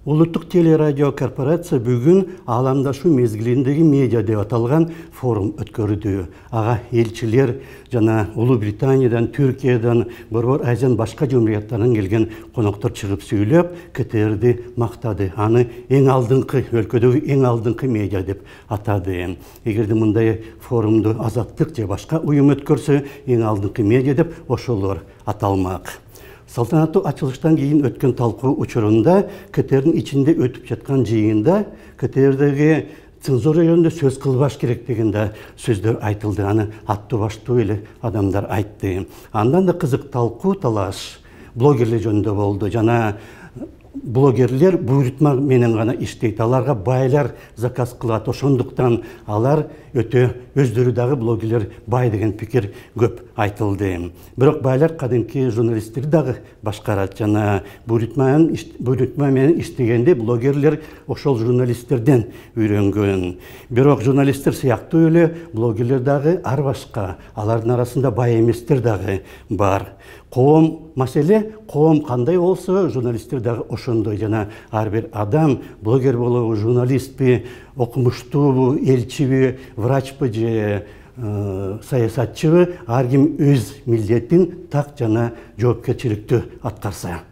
Улуттук телерадио корпорация бүгүн ааламдашу мезгилиндеги медиа деп аталган форум өткөрдү. Ага элчилер жана Улуу Британиядан, Түркиядан, Борбор Азиян башка жумурияттарынан келген коноктор чыгып сүйлөп, КТРди мактады. Аны өлкөдөгү эң алдыңкы медиа деп атады. Эгерде мындай форумду Азаттык же башка уюм өткөрсө, эң алдыңкы медиа деп ошолор аталмак. Салтанаттуу ачылыштан кийин өткөн талкуу учурунда КТРдин ичинде өтүп жаткан жыйында КТРдеги цензура жөнүндө сөз кылбаш керек деген да сөздөр айтылды. Аны аттуу баштуу эле адамдар айтты. Андан да кызык талкуу талаш блогерлер жөнүндө болду. Жана блогерлер буйрутма менен гана иштейт. Аларга байлар заказ кылат. Ошондуктан алар өтө өздөрү дагы блогерлер бай деген пикир көп айтылды. Бирок байлар кадимки журналисттерди дагы башкарат. Жана буйрутма менен иштегенде блогерлер ошол журналисттерден үйрөнгөн. Бирок журналисттер сыяктуу эле блогерлер дагы ар башка. Алардын арасында бай эместер дагы бар. Маселе коом кандай болсо, журналисттер дагы ошондой. Жана ар бир адам блогер болобу, журналистпи, окумуштуубу, элчиби, врачпы же саясатчыбы, ар ким өз милдетин так жана жоопкерчиликтүү аткарса.